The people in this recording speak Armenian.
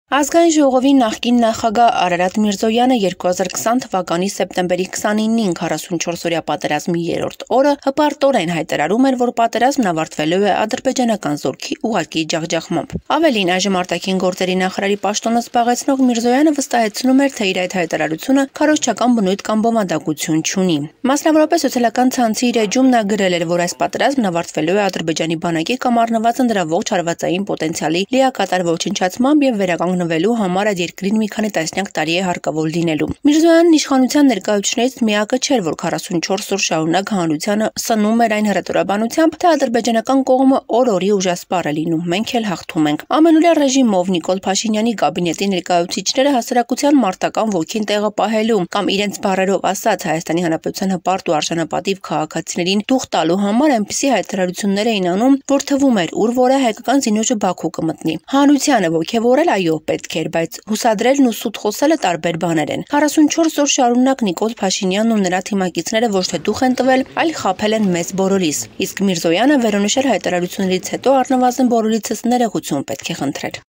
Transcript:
Ազգային ժողովի նախկին նախագահ Արարատ Միրզոյանը 2020 թվականի սեպտեմբերի 29-ին 44-օրյա պատերազմի երրորդ օրը հպարտորեն հայտարարում էր, որ պատերազմն ավարտվելու է ադրբեջանական զորքի ուղղակի ջախջախմամբ։ Ավելին, այժմ արտաքին գործերի նախարարի պաշտոնը զբաղեցնող Միրզոյանը վստահեցնում էր, թե իր այդ հայտարարությունը քարոզչական բնույթ կամ բովանդակություն չունի։ Մասնավորապես սոցիալական ցանցի իր էջում նա գրել էր, որ այս պատերազմն ավարտվելու է Ադրբեջանի բանակի կամ առնվազն դրա ողջ հարվածային պոտենցիալի լիակատար ոչնչացմամբ եւ վերականգնվելու համար այդ երկրին մի քանի տասնյակ տարի է հարկավոր լինելու։ Միրզոյանն իշխանության ներկայացուցիչներից միակը չէր, որ 44 օր շարունակ հանրությանը սնում էր այն հռետորաբանությամբ, թե ադրբեջանական կողմը օր-օրի ուժասպառ է լինում, մենք էլ հաղթում ենք։ Ամենօրյա ռեժիմով Նիկոլ Փաշինյանի կաբինետի ներկայացուցիչները հասարակության մարտական ոգին տեղը պահելու կամ իրենց բառերով ասած Հայաստանի Հանրապետության հպարտ ու արժանապատիվ քաղաքացիներին դուխ տալու համար այնպիսի հայտարարություններ էին անում, որ թվում էր, ուր որ է հայկական զինուժը Բաքու կմտնի։ Հանրությանը ոգևորել այո պետք էր, բայց հուսադրելն ու սուտ խոսելը տարբեր բաներ են։ 44 օր շարունակ Նիկոլ Փաշինյանն ու նրա թիմակիցները ոչ թե դուխ են տվել, այլ խաբել են մեզ բոլորիս։ Իսկ Միրզոյանը վերոնշյալ հայտարարություններից հետո առնվազն բոլորիցս ներողություն պետք է խնդրեր։